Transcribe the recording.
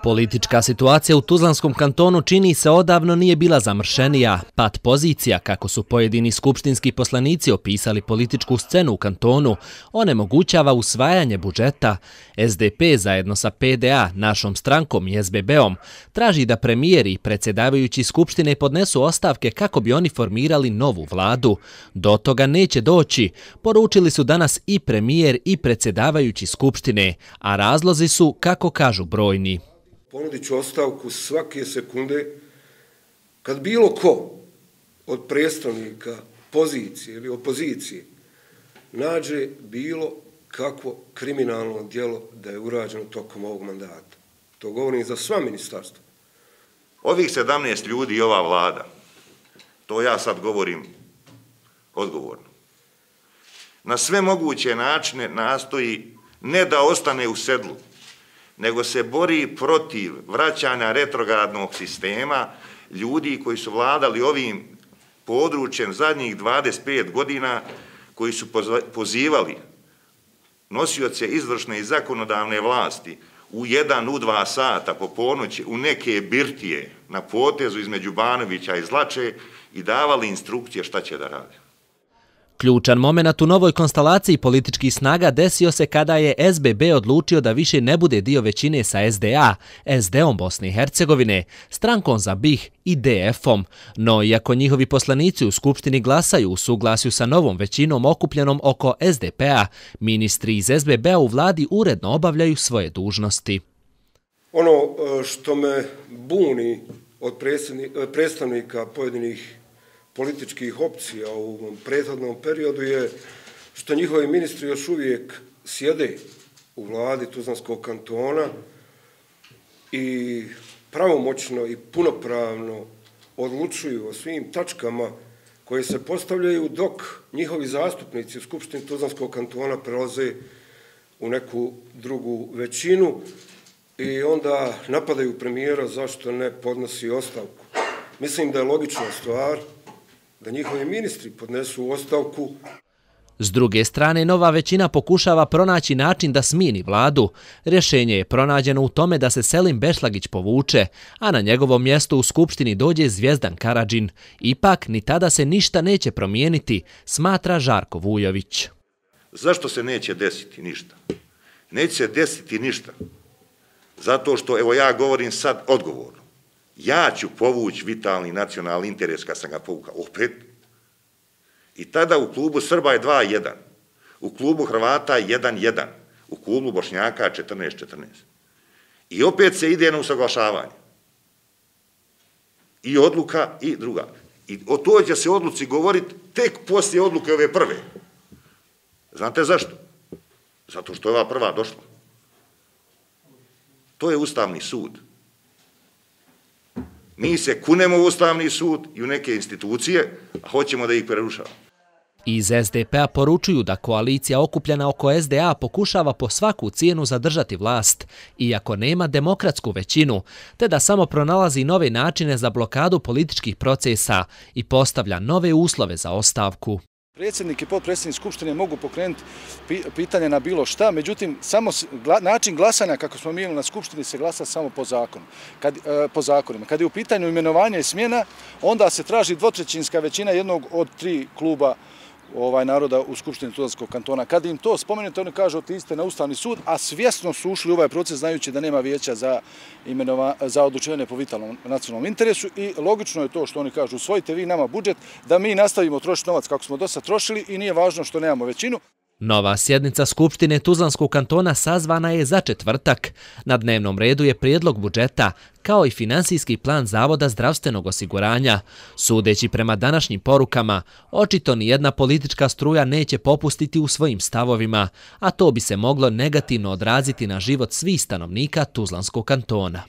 Politička situacija u Tuzlanskom kantonu čini se odavno nije bila zamršenija. Pad pozicija, kako su pojedini skupštinski poslanici opisali političku scenu u kantonu, onemogućava usvajanje budžeta. SDP zajedno sa PDA, našom strankom i SBB-om traži da premijer i predsjedavajući skupštine podnesu ostavke kako bi oni formirali novu vladu. Do toga neće doći, poručili su danas i premijer i predsjedavajući skupštine, a razlozi su, kako kažu, brojni. Ponudit ću ostavku svake sekunde kad bilo ko od predstavnika pozicije ili opozicije nađe bilo kakvo kriminalno djelo da je urađeno tokom ovog mandata. To govorim za sva ministarstva. Ovih 17 ljudi i ova vlada, to ja sad govorim odgovorno, na sve moguće načine nastoji ne da ostane u sedlu, nego se bori protiv vraćanja retrogradnog sistema ljudi koji su vladali ovim područjem zadnjih 25 godina, koji su pozivali nosioce izvršne i zakonodavne vlasti u 1, u 2 sata po ponoći u neke birtije na potezu između Banovića i Zlače i davali instrukcije šta će da rade. Ključan moment u novoj konstelaciji političkih snaga desio se kada je SBB odlučio da više ne bude dio većine sa SDA, SD-om Bosne i Hercegovine, strankom za BiH i DF-om. No, iako njihovi poslanici u Skupštini glasaju u suglasju sa novom većinom okupljenom oko SDP-a, ministri iz SBB-a u vladi uredno obavljaju svoje dužnosti. Ono što me buni od predstavnika pojedinih političkih opcija u ovom prethodnom periodu je što njihovi ministri još uvijek sjede u vladi Tuzlanskog kantona i pravomoćno i punopravno odlučuju o svim tačkama koje se postavljaju dok njihovi zastupnici u Skupštini Tuzlanskog kantona prelaze u neku drugu većinu i onda napadaju premijera zašto ne podnosi ostavku. Mislim da je logična stvar da njihovi ministri podnesu ostavku. S druge strane, nova većina pokušava pronaći način da smijeni vladu. Rješenje je pronađeno u tome da se Selim Bešlagić povuče, a na njegovom mjestu u Skupštini dođe Zvijezdan Karadžin. Ipak, ni tada se ništa neće promijeniti, smatra Žarko Vujović. Zašto se neće desiti ništa? Neće se desiti ništa. Zato što, evo ja govorim sad odgovorno, ja ću povući vitalni nacionalni interes kad sam ga povukao opet. I tada u klubu Srba je 2-1, u klubu Hrvata 1-1, u klubu Bošnjaka 14-14. I opet se ide na usaglašavanje. I odluka i druga. I o toj će se odluci govoriti tek poslije odluke ove prve. Znate zašto? Zato što je ova prva došla. To je Ustavni sud. Mi se kunemo u Ustavni sud i u neke institucije, a hoćemo da ih prerušavamo. Iz SDP-a poručuju da koalicija okupljena oko SDA pokušava po svaku cijenu zadržati vlast, iako nema demokratsku većinu, te da samo pronalazi nove načine za blokadu političkih procesa i postavlja nove uslove za ostavku. Predsjednik i potpredsjednik Skupštine mogu pokrenuti pitanje na bilo šta, međutim, samo način glasanja kako smo mi imali na Skupštini se glasa samo po zakonima. Kad je u pitanju imenovanja i smjena, onda se traži dvotrećinska većina jednog od 3 kluba naroda u Skupštini Tuzlanskog kantona. Kad im to spomenete, oni kažu otiđite na Ustavni sud, a svjesno su ušli u ovaj proces znajući da nema vijeća za odlučivanje po vitalnom nacionalnom interesu i logično je to što oni kažu usvojite vi nama budžet, da mi nastavimo trošiti novac kako smo do sad trošili i nije važno što nemamo većinu. Nova sjednica Skupštine Tuzlanskog kantona sazvana je za četvrtak. Na dnevnom redu je prijedlog budžeta, kao i finansijski plan Zavoda zdravstvenog osiguranja. Sudeći prema današnjim porukama, očito nijedna politička struja neće popustiti u svojim stavovima, a to bi se moglo negativno odraziti na život svih stanovnika Tuzlanskog kantona.